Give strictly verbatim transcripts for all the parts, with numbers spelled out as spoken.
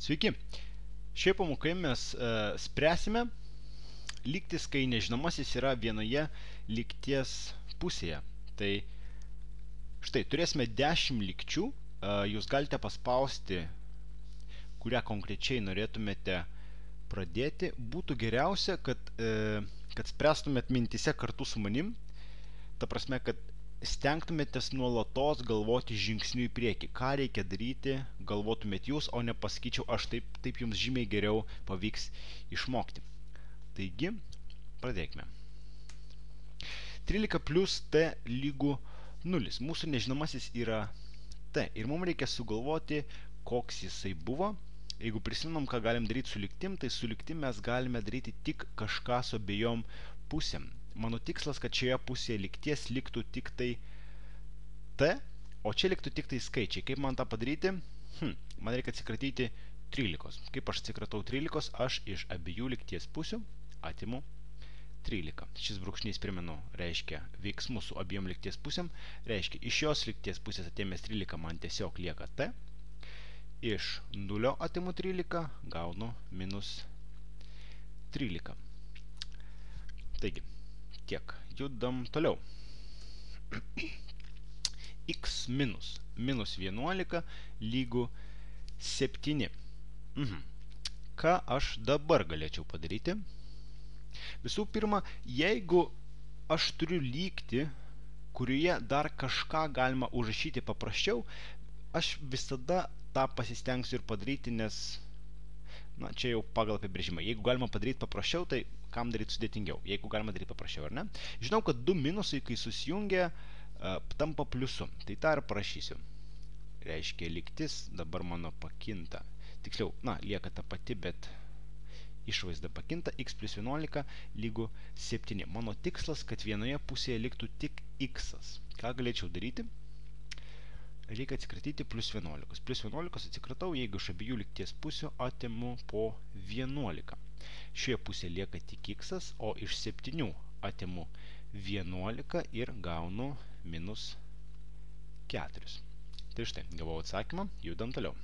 Sveiki. Šioje pamokoje mes uh, spręsime lygtis, kai nežinomasis yra vienoje lygties pusėje. Tai štai, turėsime dešimt lygčių. Uh, jūs galite paspausti, kurią konkrečiai norėtumėte pradėti. Būtų geriausia, kad, uh, kad spręstumėt mintise kartu su manim. Ta prasme, kad stengtumėtės nuolatos galvoti žingsnių į priekį. Ką reikia daryti, galvotumėt jūs, o ne pasakyčiau aš, taip, taip jums žymiai geriau pavyks išmokti. Taigi, pradėkime. trylika plius t lygu nulis. Mūsų nežinomasis yra t. Ir mums reikia sugalvoti, koks jisai buvo. Jeigu prisimenam, ką galim daryti su lygtim, tai su lygtim mes galime daryti tik kažką su abiejom pusėm. Mano tikslas, kad šioje pusėje lygties liktų tik tai t, o čia liktų tik tai skaičiai. Kaip man tą padaryti? Hm, man reikia atsikratyti trylikos. Kaip aš atsikratau trylikos? Aš iš abiejų lygties pusių atimu trylika. Šis brūkšnys, primenu, reiškia veiksmus su abiem lygties pusėm. Reiškia, iš šios lygties pusės atėmęs trylika man tiesiog lieka t. Iš nulio atimu trylika, gaunu minus trylika. Taigi, tiek. Judam toliau. X minus minus vienuolika lygu septyni. Mhm. Ką aš dabar galėčiau padaryti? Visų pirma, jeigu aš turiu lygtį, kurioje dar kažką galima užrašyti paprasčiau, aš visada tą pasistengsiu ir padaryti, nes na, čia jau pagal apibrėžimą. Jeigu galima padaryti paprasčiau, tai kam daryti sudėtingiau? Jeigu galima daryti paprasčiau, ar ne? Žinau, kad du minusai, kai susijungia, uh, tampa pliusu. Tai tą ir parašysiu. Reiškia, lygtis dabar mano pakinta. Tiksliau, na, lieka ta pati, bet išvaizda pakinta. X plus vienuolika lygu septyni. Mano tikslas, kad vienoje pusėje liktų tik x. Ką galėčiau daryti? Reikia atsikratyti plus vienuolikos. Plus vienuolikos atsikratau, jeigu iš abiejų lygties pusių atimu po vienuolika. Šioje pusėje lieka tik x, o iš septynių atimu vienuolika ir gaunu minus keturis. Tai štai, gavau atsakymą, judam toliau.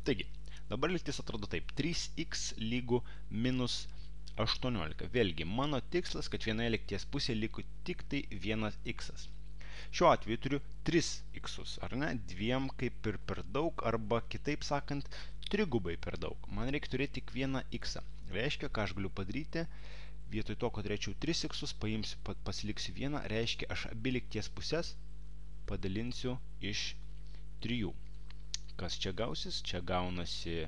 Taigi, dabar lygtis atrodo taip. trys x lygu minus aštuoniolika. Vėlgi, mano tikslas, kad vienoje lygties pusėje liko tik tai vienas x. Šiuo atveju turiu tris x, ar ne? Dviem kaip ir per daug, arba kitaip sakant, trigubai per daug. Man reikia turėti tik vieną x. Reiškia, ką aš galiu padaryti, vietoj to, kad turėčiau tris x, paimsiu, pasiliksiu vieną, reiškia, aš abi lygties pusės padalinsiu iš trijų. Kas čia gausis? Čia gaunasi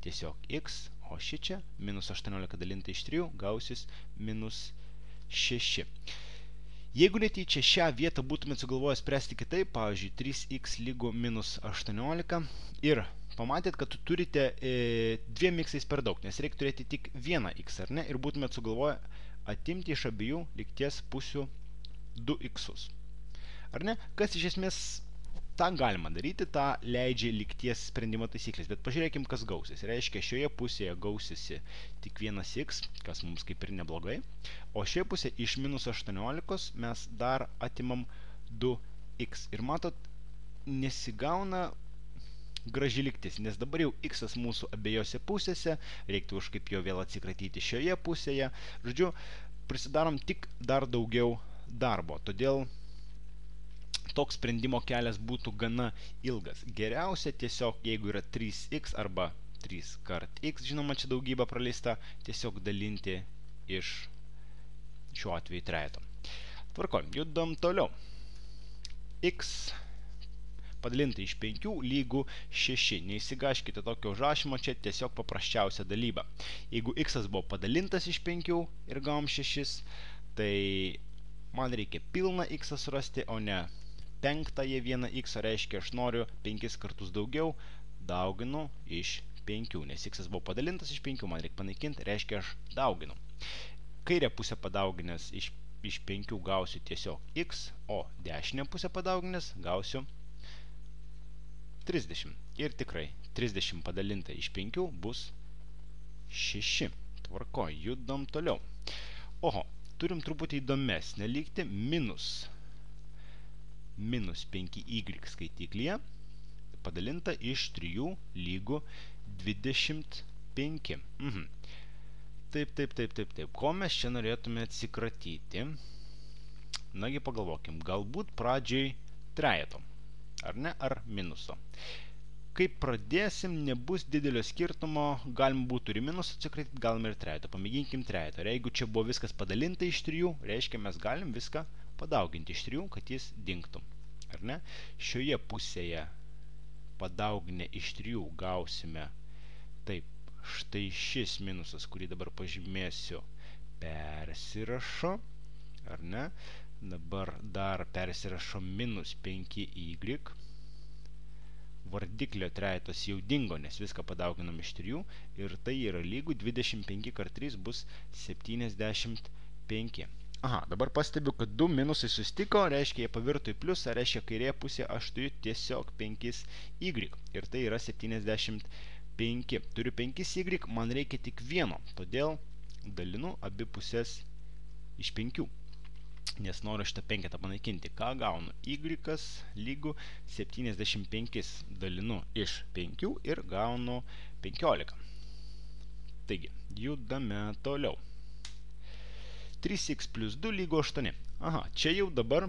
tiesiog x, o ši čia, minus aštuoniolika dalinta iš trijų, gausis minus šeši. Jeigu netyčia šią vietą būtumėt sugalvoję spręsti kitaip, pavyzdžiui, trys x lygu minus aštuoniolika, ir pamatėt, kad turite e, dviem x per daug, nes reikia turėti tik vieną x, ar ne? Ir būtumėt sugalvoję atimti iš abiejų lygties pusių du x. Ar ne? Kas iš esmės tą galima daryti, tą leidžia lygties sprendimo taisyklės, bet pažiūrėkim, kas gausis. Reiškia, šioje pusėje gausisi tik vienas x, kas mums kaip ir neblogai, o šioje pusėje iš minus aštuoniolikos mes dar atimam du x. Ir matot, nesigauna graži lygtis, nes dabar jau x mūsų abiejose pusėse, reiktų kažkaip jo vėl atsikratyti šioje pusėje. Žodžiu, prisidarom tik dar daugiau darbo, todėl toks sprendimo kelias būtų gana ilgas. Geriausia tiesiog, jeigu yra trys x arba trys kart x, žinoma, čia daugybė praleista, tiesiog dalinti iš šiuo atveju trejeto. Tvarkoj, judam toliau. X padalinta iš penkių lygu šeši. Neįsigaškite tokio užrašymo, čia tiesiog paprasčiausia dalyba. Jeigu x buvo padalintas iš penkių ir gavom šešis, tai man reikia pilną x surasti, o ne penktąją vieną x, reiškia, aš noriu penkis kartus daugiau, dauginu iš penkių, nes x buvo padalintas iš penkių, man reikia panaikinti, reiškia, aš dauginu. Kairę pusę padauginęs iš, iš penkių gausiu tiesiog x, o dešinę pusę padauginęs gausiu trisdešimt. Ir tikrai, trisdešimt padalinta iš penkių bus šeši. Tvarko, judam toliau. Oho, turim truputį įdomesnę lygtį, minus minus penki y skaitiklyje padalinta iš trijų lygu dvidešimt penki. Mhm. Taip, taip, taip, taip, taip. Ko mes čia norėtume atsikratyti? Nagi pagalvokim, galbūt pradžiai trejeto, ar ne, ar minuso. Kai pradėsim, nebus didelio skirtumo, galim būtų ir minusą atsikratyti, galim ir trejeto. Pamėginkim trejeto. Ir jeigu čia buvo viskas padalinta iš trijų, reiškia mes galim viską padauginti iš trijų, kad jis dingtų. Ar ne? Šioje pusėje padauginę iš trijų gausime taip. Štai šis minusas, kurį dabar pažymėsiu, persirašo, ar ne? Dabar dar persirašo minus penki y. Vardiklio trejetas jau dingo, nes viską padauginam iš trijų. Ir tai yra lygu dvidešimt penki kart trys bus septyniasdešimt penki. Aha, dabar pastebiu, kad du minusai susitiko, reiškia jie pavirto į pliusą, reiškia kairėje pusėje aš turiu tiesiog penki y. Ir tai yra septyniasdešimt penki. Turiu penki y, man reikia tik vieno, todėl dalinu abi pusės iš penkių. Nes noriu šitą penketą panaikinti. Ką gaunu? Y lygu septyniasdešimt penki dalinu iš penkių ir gaunu penkiolika. Taigi, judame toliau. trys x plus du lygu aštuoni. Aha, čia jau dabar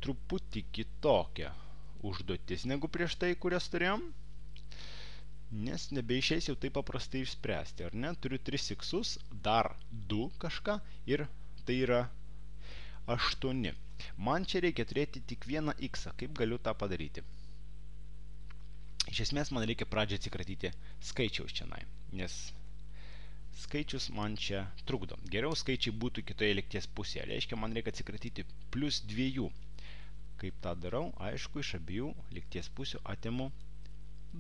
truputį kitokia užduotis negu prieš tai, kurias turėjom. Nes nebeišeis jau taip paprastai išspręsti, ar ne? Turiu tris x-us, dar du kažką ir tai yra aštuoni. Man čia reikia turėti tik vieną x-ą. Kaip galiu tą padaryti? Iš esmės man reikia pradžią atsikratyti skaičiaus čianai, nes skaičius man čia trukdo. Geriau skaičiai būtų kitoje lygties pusėje. Reiškia, man reikia atsikratyti plus dviejų. Kaip tą darau? Aišku, iš abiejų lygties pusių atimu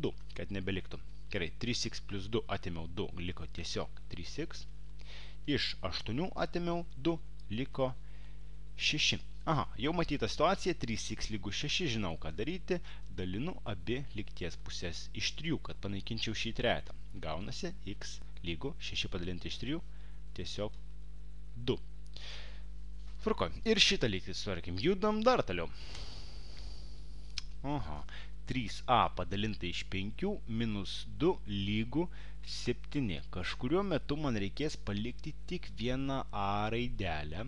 du, kad nebeliktų. Gerai, trys x plus du atėmiau du, liko tiesiog trys x. Iš aštuonių atėmiau du, liko šeši. Aha, jau matyta situacija, trys x lygu šeši, žinau ką daryti, dalinu abi lygties pusės iš trijų, kad panaikinčiau šį trejetą. Gaunasi x lygu šeši padalinti iš trijų, tiesiog du. Tvarkoj, ir šitą lygtį sutvarkim, judam dar toliau. Aha, trys a padalinta iš penkių minus du lygu septyni. Kažkuriuo metu man reikės palikti tik vieną a raidelę.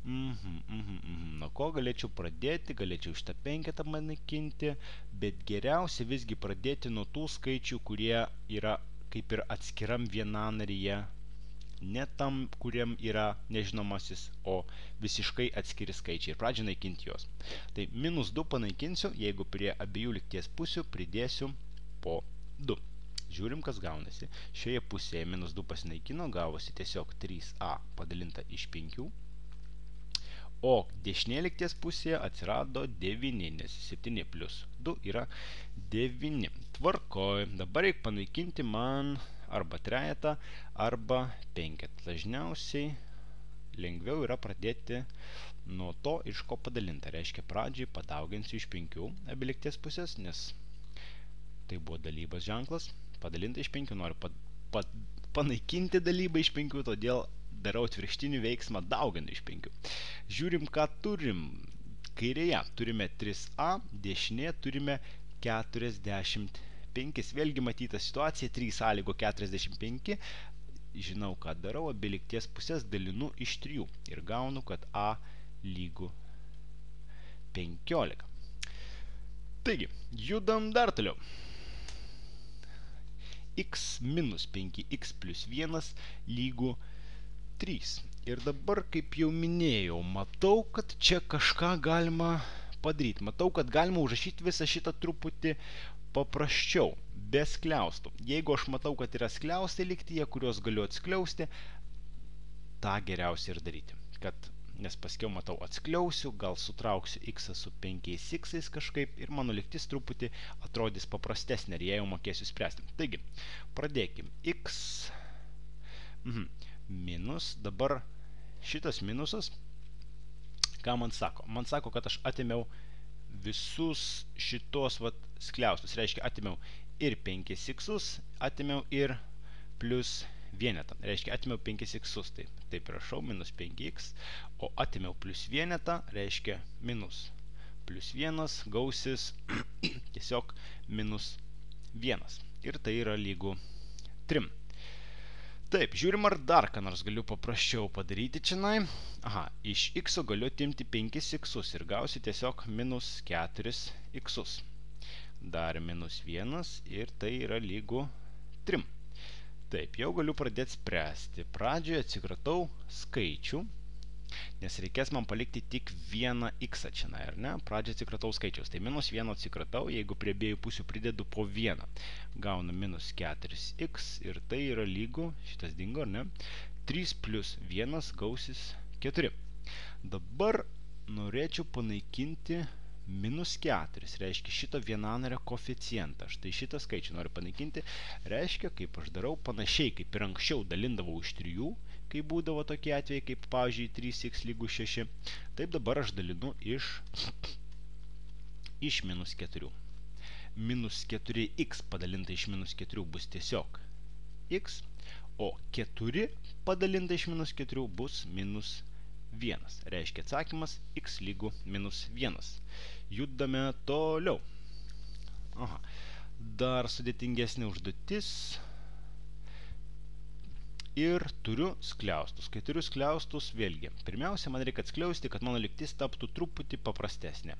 Mhm, mhm, mhm. Nuo ko galėčiau pradėti? Galėčiau šitą penketą panaikinti, bet geriausia visgi pradėti nuo tų skaičių, kurie yra kaip ir atskiram vienanaryje, ne tam, kuriam yra nežinomasis, o visiškai atskiri skaičiai. Ir pradžią naikinti juos. Tai minus du panaikinsiu, jeigu prie abiejų lygties pusių pridėsiu po du. Žiūrim, kas gaunasi. Šioje pusėje minus du pasinaikino, gavosi tiesiog trys a padalinta iš penkių. O dešinėje lygties pusėje atsirado devyni, nes septyni plus du yra devyni. Tvarkoj, dabar reikia panaikinti man arba trejetą, arba penketą. Dažniausiai lengviau yra pradėti nuo to, iš ko padalinta. Reiškia, pradžiai padauginsiu iš penkių abi lygties pusės, nes tai buvo dalybos ženklas. Padalinta iš penkių, noriu pa, pa, panaikinti dalybą iš penkių, todėl darau atvirkštinį veiksmą dauginu iš penkių. Žiūrim, ką turim. Kairėje turime trys a, dešinėje turime keturiasdešimt penki. Vėlgi matyta situacija, trys a lygu keturiasdešimt penki. Žinau, ką darau, abi lygties pusės dalinu iš trijų. Ir gaunu, kad a lygu penkiolika. Taigi, judam dar toliau. X minus penki x plus vienas lygu trys. Ir dabar, kaip jau minėjau, matau, kad čia kažką galima padaryti. Matau, kad galima užrašyti visą šitą truputį paprasčiau, be skliaustų. Jeigu aš matau, kad yra skliaustai lygtyje, kuriuos galiu atskliausti, tą geriausia ir daryti. Kad, nes paskiau matau atskliausiu, gal sutrauksiu x su penkiais x kažkaip ir mano lygtis truputį atrodys paprastesnė ir jei jau mokėsiu spręsti. Taigi, pradėkim. X mhm. minus, dabar šitas minusas, ką man sako? Man sako, kad aš atėmiau visus šitos vat skliaustus. Reiškia, atėmiau ir penkis x-us, atėmiau ir plus vienetą. Reiškia, atėmiau penkis x-us. Taip, taip rašau, minus penki x, o atėmiau plus vienetą, reiškia minus plus vienas gausis tiesiog minus vienas. Ir tai yra lygu trim. Taip, žiūrim, ar dar ką nors galiu paprasčiau padaryti čianai. Aha, iš x galiu atimti penkis x'us ir gausiu tiesiog minus keturis x'us. Dar minus vienas ir tai yra lygu trim. Taip, jau galiu pradėti spręsti. Pradžioje atsikratau skaičių, nes reikės man palikti tik vieną x čianai, ar ne? Pradžioje atsikratau skaičiaus. Tai minus vieną atsikratau, jeigu prie abiejų pusių pridedu po vieną. Gaunu minus keturis x ir tai yra lygu, šitas dingo, ar ne? trys plus vienas gausis keturi. Dabar norėčiau panaikinti minus keturis, reiškia šito vienanario koeficientą. Štai šitą skaičių noriu panaikinti. Reiškia, kaip aš darau, panašiai kaip ir anksčiau dalindavau iš trijų, kai būdavo tokie atvejai, kaip, pavyzdžiui, trys x lygu šeši. Taip dabar aš dalinu iš, iš minus keturių. Minus keturi x padalinta iš minus keturių bus tiesiog x, o keturi padalinta iš minus keturių bus minus vienas. Reiškia atsakymas x lygu minus vienas. Judame toliau. Aha. Dar sudėtingesnė užduotis. Ir turiu skliaustus. Kai turiu skliaustus, vėlgi, pirmiausia, man reikia atskliausti, kad mano lygtis taptų truputį paprastesnė.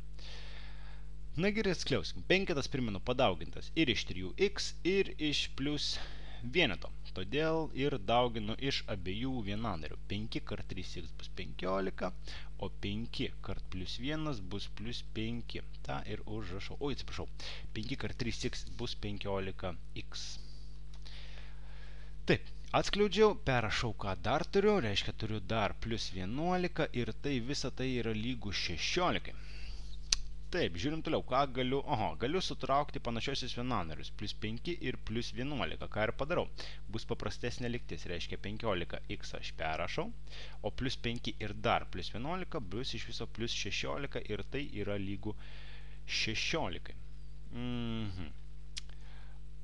Na gerai, atskliauskim. Penketas, primenu, padaugintas ir iš trijų x, ir iš plus vieneto. Todėl ir dauginu iš abiejų vienanarių. penki kart trys x bus penkiolika, o penki kart plus vienas bus plus penki. Ta ir užrašau. Oi, atsiprašau. penki kart trys x bus penkiolika x. Taip, atskliaudžiau, perrašau, ką dar turiu. Reiškia, turiu dar plus vienuolika ir tai visa tai yra lygu šešiolika. Taip, žiūrim toliau, ką galiu, oho, galiu sutraukti panašiosius vienanarius, plus penki ir plus vienuolika, ką ir padarau. Bus paprastesnė lygtis, reiškia penkiolika x aš perrašau, o plus penki ir dar plus vienuolika bus iš viso plus šešiolika ir tai yra lygu šešiolika. Mhm.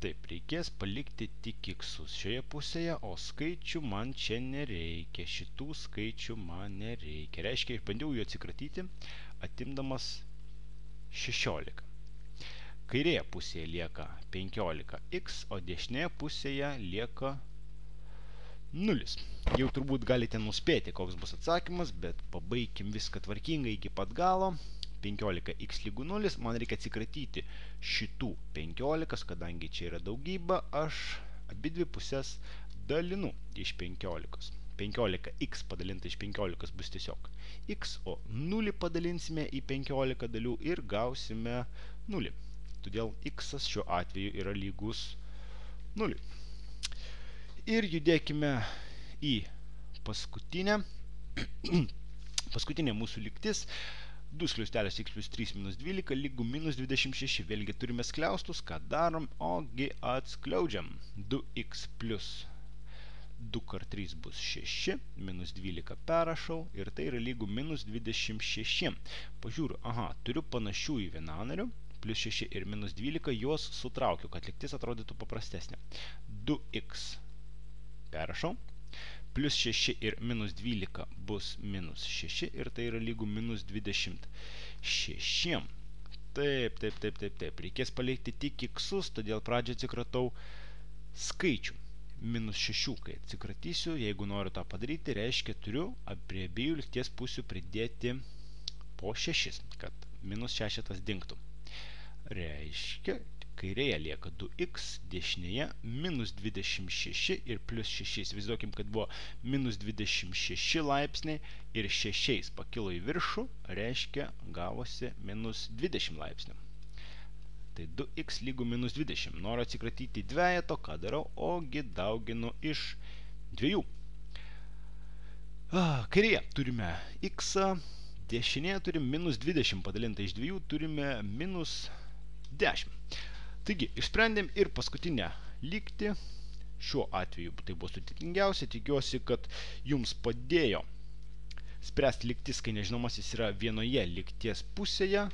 Taip, reikės palikti tik x'us šioje pusėje, o skaičių man čia nereikia, šitų skaičių man nereikia. Reiškia, bandžiau jų atsikratyti, atimdamas šešiolika. Kairėje pusėje lieka penkiolika x, o dešinėje pusėje lieka nulis. Jau turbūt galite nuspėti, koks bus atsakymas, bet pabaikim viską tvarkingai iki pat galo. penkiolika x lygu nulis, man reikia atsikratyti šitų penkiolika, kadangi čia yra daugybė, aš abidvi pusės dalinu iš penkiolikos. penkiolika x padalinta iš penkiolikos bus tiesiog x, o nulį padalinsime į penkiolika dalių ir gausime nulį. Todėl x šiuo atveju yra lygus nuliui. Ir judėkime į paskutinę. Paskutinė mūsų lygtis. du skliaustelius x plus trys minus dvylika lygu minus dvidešimt šeši. Vėlgi turime skliaustus, ką darom, ogi atskliaudžiam. du x plus du kart trys bus šeši, minus dvylika perrašau ir tai yra lygu minus dvidešimt šeši. Pažiūriu, aha, turiu panašių į vienanarių, plus šeši ir minus dvylika, juos sutraukiu, kad lygtis atrodytų paprastesnė. du x perrašau, plus šeši ir minus dvylika bus minus šeši ir tai yra lygu minus dvidešimt šeši. Taip, taip, taip, taip, taip. Reikės palikti tik x'us, todėl pradžią atsikratau skaičių. Minus šešių, kai atsikratysiu, jeigu noriu tą padaryti, reiškia turiu prie abiejų lygties pusių pridėti po šešis, kad minus šešetas dingtų. Reiškia, kairėje lieka du x, dešinėje minus dvidešimt šeši ir plus šeši. Įsivaizduokim, kad buvo minus dvidešimt šeši laipsniai ir šešiais pakilo į viršų, reiškia gavosi minus dvidešimt laipsnių. Tai du x lygu minus dvidešimt. Noriu atsikratyti dvejeto, ką darau, ogi dauginu iš dviejų. Kairėje turime x, dešinėje turime minus dvidešimt padalinta iš dviejų, turime minus dešimt. Taigi, išsprendėm ir paskutinę lygtį. Šiuo atveju tai buvo sudėtingiausia. Tikiuosi, kad jums padėjo spręsti lygtis, kai nežinomasis yra vienoje lygties pusėje.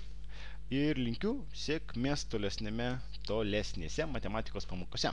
Ir linkiu sėkmės tolesnėme, tolesnėse matematikos pamokose.